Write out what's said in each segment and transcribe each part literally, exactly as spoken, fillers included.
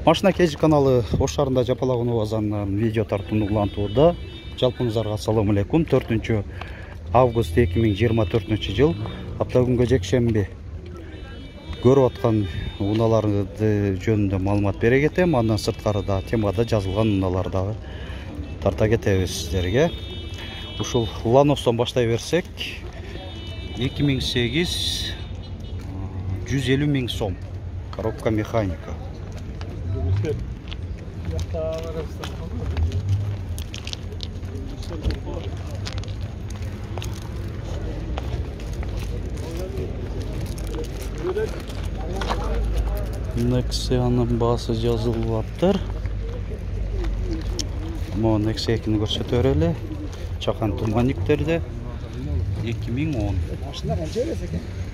Машина Кежи каналы Ош шаарында Жапалакунов базарынан видео тартууну улантууда. Жалпыңыздарга ассаламу алейкум. төртүнчү август эки миң жыйырма төртүнчү жыл апта күнгө жекшемби. Көрүп аткан унааларды жөнүндө маалымат бере кетем. Андан сырткары да темада жазылган унааларды дагы тарта кетебиз сиздерге. Ушул Ланостон баштай берсек, эки миң сегиз жүз элүү миң сом. Коробка механика. Nexion'un baası жазылыптыр. Mo Nexia экини көрсөтөр эле. Чакан туманниктерде эки миң он.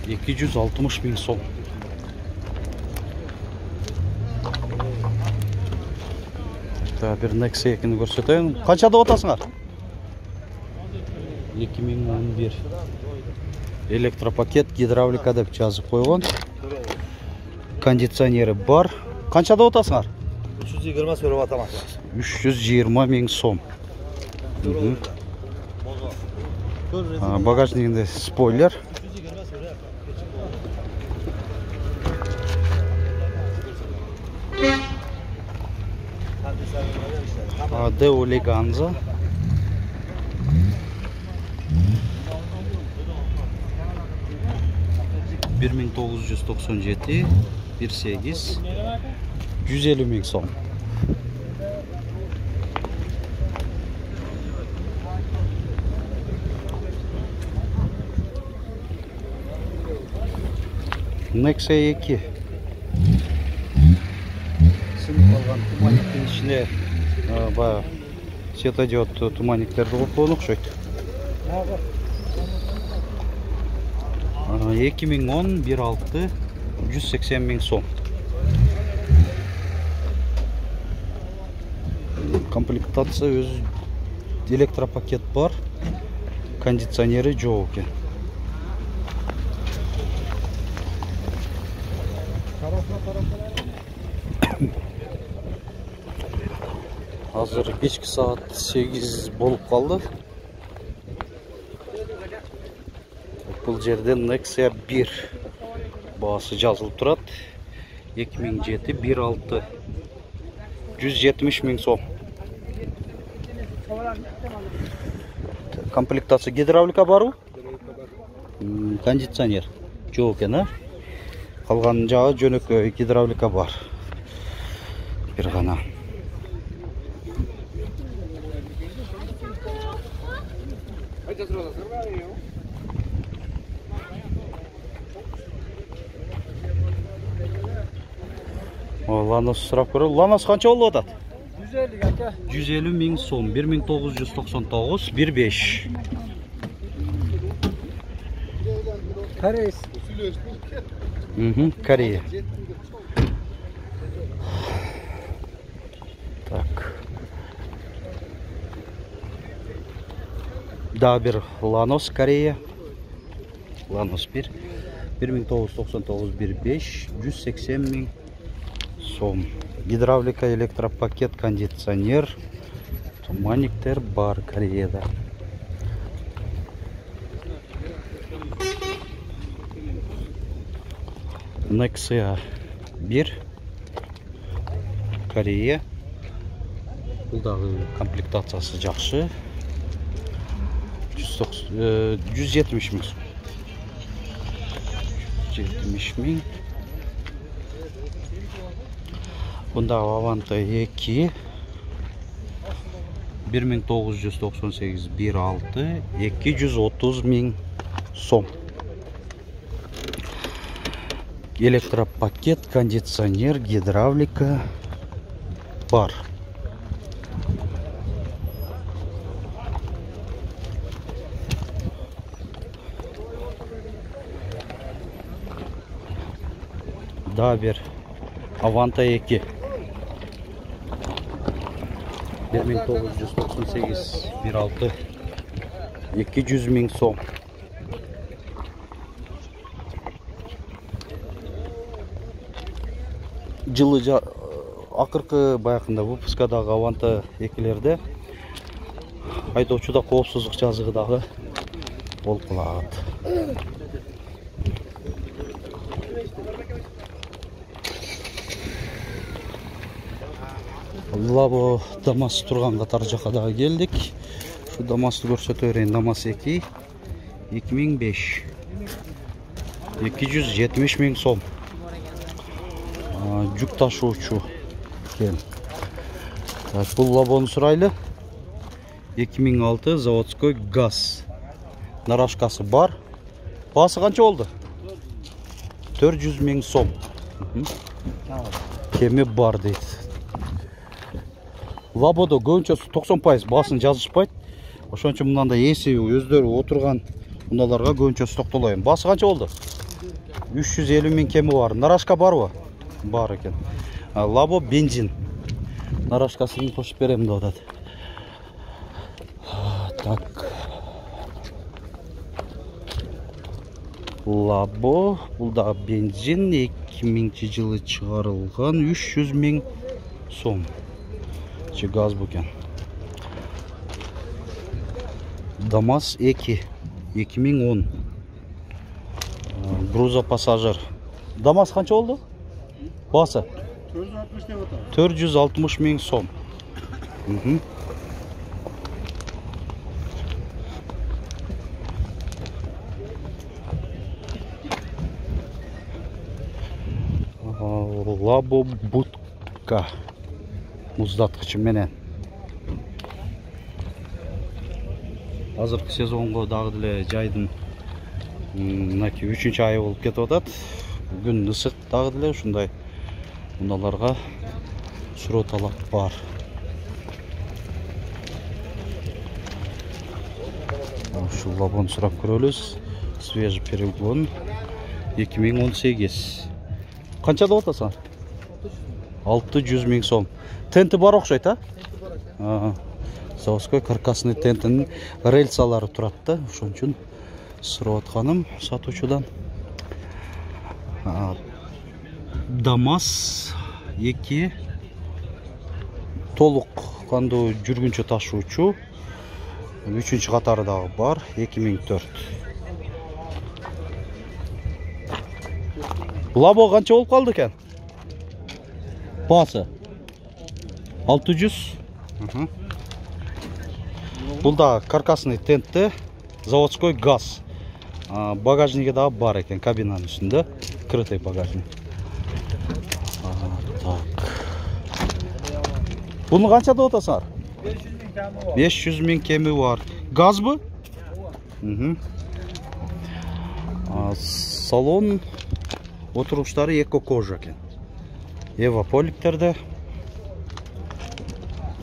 эки жүз алтымыш миң сом. Та бир Nexia экини көрсөтөйүн. Канчада отасыңар? эки миң он бир. Электропакет, гидравлика деп жазып койгон. Кондиционери бар. Канчада отасыңар? үч жүз жыйырма сөрөп атамак. үч жүз жыйырма миң сом. Багажнигинде спойлер. Део Леганза. бир миң тогуз жүз токсон жети, бир сегиз, жүз элүү миң сом. Nexia эки. Сынып калган туманниктин ичине баягы светодиод туманниктерди койгон окшойт. эки миң он бир алты, жүз сексен миң сом. Комплектация өз электропакет бар, кондиционери жок экен. Азыр кечки саат сегиз болуп калды. Бул жерде Nexia бир баасы жазылып турат. эки миң жети, бир алты, жүз жетимиш миң сом. Комплектация гидравлика барбы? Кондиционер жок экен, а? Калган жагы жөнөкөй гидравлика бар. Бир гана. Ланос сурап көрө. Ланос канча болуп атат? жүз элүү ака. жүз элүү миң сом, бир миң тогуз жүз токсон тогуз, бир беш. Корейс. Мм, Корея. Так. Да, бир Ланос Корея. Ланос бир. бир миң тогуз жүз токсон тогуз, бир беш, жүз сексен миң сом. Гидравлика, электропакет, кондиционер, туманниктер бар Кореяда. Nexia бир, Корея. Бул дагы комплектациясы жакшы. жүз жетимиш миң сом. жетимиш миң. Бунда Аванта эки, бир миң тогуз жүз токсон сегиз, бир алты, эки жүз отуз миң сом. Электропакет, кондиционер, гидравлика бар. Да, бир Аванта эки. бир миң тогуз жүз токсон сегиз, бир алты, эки жүз миң сом. жылы акыркы баягында выпускадагы Аванта экилерде айдоочуда коопсуздук жазыгы дагы болуп калат. Лабо Дамас турган катар жака дагы келдик. Şu Damas'ı көрсөтө берейин. Damas эки эки миң беш. эки жүз жетимиш миң сом. Жүк ташуучу экен. Так, бул лабону сурайлы. эки миң алты заводской газ. Нарашкасы бар. Басы канча болду? төрт жүз миң сом. Кеми бар дейт. Лабодо көбүнчө токсон пайыз басын жазышпайт. Ошон үчүн мындай эси өздөрү отурган муналарга көбүнчө токтолоюм. Басы канча болду? үч жүз элүү миң кеми бар. Нарашка барбы? Бар экен. Лабо бензин. Нарашкасын кошуп берем деп атат. Так. Лабо, бул да бензин, эки миңинчи жылы чыгарылган, үч жүз миң сом. Че газ бу экен. Дамас эки эки миң он. Груза пассажир. Дамас канча болду? Басы төрт жүз алтымыш миң сом. Лабо будка муздаткычы менен. Азыркы сезонго дагы деле жайдын мынакей үчүнчү айы болуп кетип атат. Күн ысык дагы деле ушундай муналарга суроо талап бар. Ушул лабону сурап көрөлүз. Свежий перегон эки миң он сегиз. Канча деп атасың? алты жүз миң сом. Тенти бар окшойт, а? Заводской каркасный тентинин рельсалары турат да, ошон үчүн сурап атканым сатуучудан. Дамас эки толук кандуу жүргүнчө ташуучу. үчүнчү катары дагы бар, эки миң төрт. Лабо канча болуп калды экен? Басы алты жүз. Бул да каркасный тентте, заводской газ. Багажниги дагы бар экен, кабинанын үстүндө, крытый багажник. Так. Буну канча деп атасыңар? беш жүз миң кеми бар. Газбы? Салон отуруштары эко кожа экен. Ева поликтерде.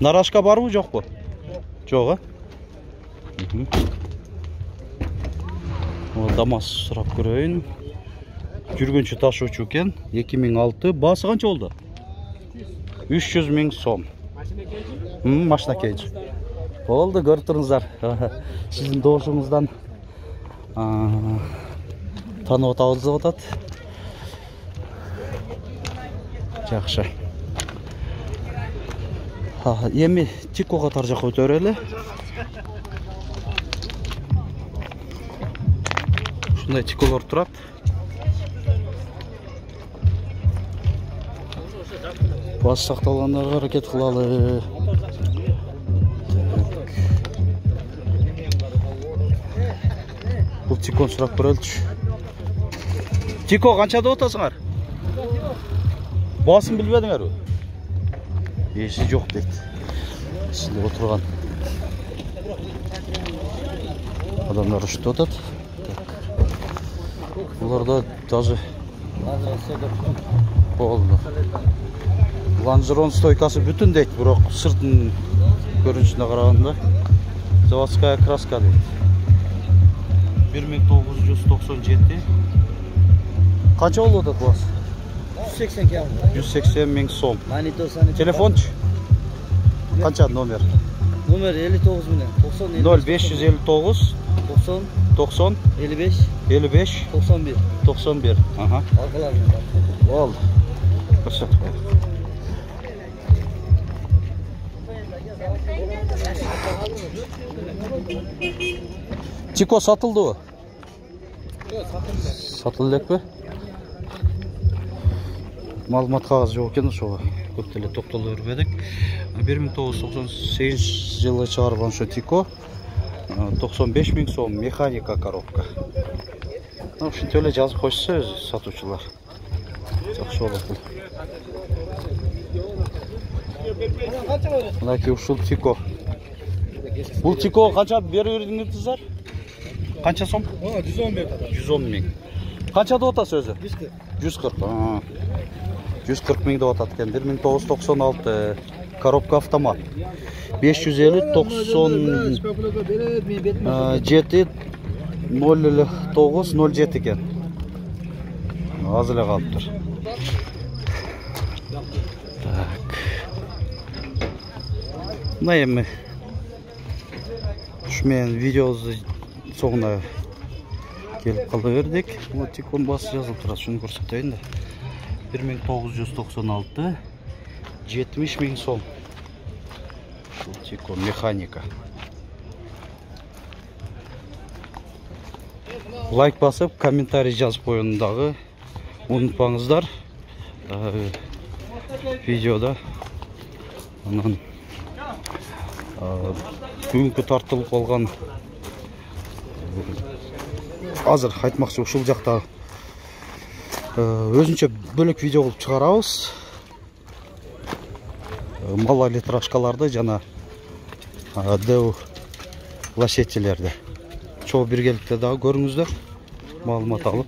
Нарашка барбы, жокпу? Жок, а? Дамас сурап көрөйүн. Жүргүнчү ташуучу экен, эки миң алты. Басы канча болду? үч жүз миң сом. Машина кейж. Болду, көрүп туруңуздар. Сиздин добушуңуздан танып атабыз деп атат. Жакшы. Эми Тико катар жака өтө берели. Ушундай Тиколор турат. Бас сакталгандарга аракет кылалы. Бул Тикону сурап көрөлүчү. Тико канча деп атасыңар? Басын билбедиңерби? Эси жок дейт. Силип отурган адамдар уште атат. Буларда даже болду. Лонжерон стойкасы бүтүн дейт, бирок сыртын көрүнүшүнө караганда заводская краска дейт. бир миң тогуз жүз токсон жети. Канча болду атат бас? жүз сексен кем. жүз сексен миң сом. Монитор. Телефончу? Канча номер? Номер элүү тогуз менен токсон ноль беш жүз элүү тогуз токсон токсон элүү беш элүү беш токсон бир токсон бир. Ага. Алкаларында. Болду. Көрсөтүп коет. Тико сатылдыбы? Сатылды элекпи? Маалымат кагазы жок экен, ошого көп деле токтоло бербедик. бир миң тогуз жүз токсон сегизинчи жылы чыгарылган ошо Тико токсон беш миң сом механика коробка. Ушинтип эле жазып койсо өзү сатуучулар. Жакшы болот бул. Мынакей ушул Тико. Бул Тико канча берип бердиңиздер? Канча сом? жүз он берди. жүз он миң. Канча деп атасыз өзү? жүз кырк. жүз кырк миң деп атат экен. бир миң тогуз жүз токсон алты коробка автомат. беш жүз элүү токсон жети ноль тогуз ноль жети экен. Аз эле калыптыр. Так. Мына эми ушу менен видеобузду соңуна келип кала бердик. Бул Тикон басы жазылып турат, шуну көрсөтөйүн да. бир миң тогуз жүз токсон алты жетимиш миң сом. Бул Тикон механика. Лайк басып, комментарий жазып коюуну дагы унутпаңыздар. Видеода анан бүгүнкү тартылып калган азыр айтмакчы ушул жакта өзүнчө бөлөк видео кылып чыгарабыз. Малолитражкаларды жана дэу лошадилерди. Чоо биргеликте дагы көрүңүздөр, маалымат алып.